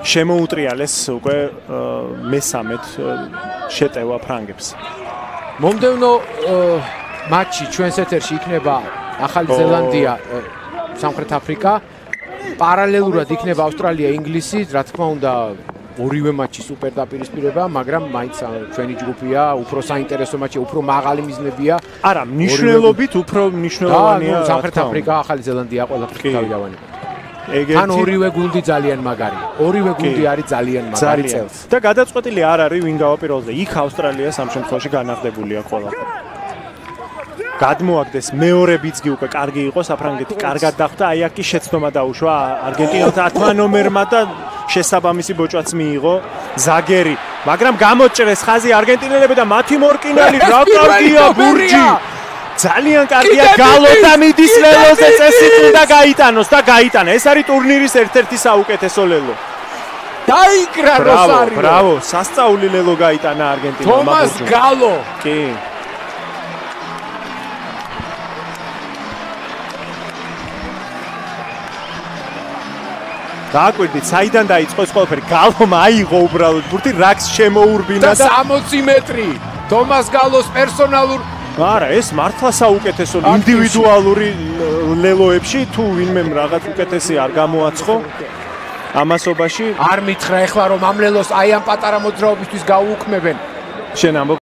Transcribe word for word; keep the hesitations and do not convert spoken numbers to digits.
შემოუტრიალეს უკვე მესამედ შეტევა ფრანგებს. მომდევნო მატჩი ჩვენს ეთერში იქნება ახალი ზელანდია სამხრეთ აფრიკა. პარალელურად იქნება ავსტრალია ინგლისი, რა თქმა უნდა ორივე მატჩი სუპერ დაპირისპირება, მაგრამ მაინც ჩვენი ჯგუფია, უფრო საინტერესო მატჩია, უფრო მაღალი მიზნებია. არა, მნიშვნელობით უფრო მნიშვნელოვანია სამხრეთ აფრიკა, ახალი ზელანდია ყველაფერი გავიდავანი. თან ორივე გუნდი ძალიან მაგარია. ორივე გუნდი არის ძალიან მაგარი წელს. და გადაწყვეტილი არ არის ვინ გავაპირობდა. იქ ავსტრალია სამ შემთხვევაში განაღდებულია ყველაფერი. გადმოაგდეს მეორე ბიძგი უკვე კარგი იყო, საფრანგეთი კარგად დახვდა, აი აქ კი შეცდომა დაუშვა არგენტინელთა ათმა ნომერმა და შესაბამისი ბოჭვაც მიიღო ზაგერი, მაგრამ გამოჭრეს ხაზი არგენტინელები და მათი მორკინალი რა კარგია ბურჯი. ძალიან კარგია გალო და მიდის ლელოზე წესით უნდა გაიტანოს და გაიტანა. ეს არის ტურნირის ერთ-ერთი საუკეთესო ლელო. დაიკრა როსარიო. ბრავო, სასწაული ლელო გაიტანა არგენტინელმა. თომას გალო. კი. დააკვირდით, საიდან დაიწყო ეს ყველაფერი? გალომ აიღო უბრალოდ ბურთი, რაკს შემოურბინა და სამოცი მეტრი. თომას გალოს პერსონალურ არა, ეს მართლა საუკეთესო ინდივიდუალური ლელოებში თუ ვინმე რაღაც უკეთესი არ გამოაცხო ამასობაში. არ მითხრა ეხლა რომ ამ ლელოს აი ამ პატარა მოძრაობისთვის გაუუქმებენ. შენ ამბობ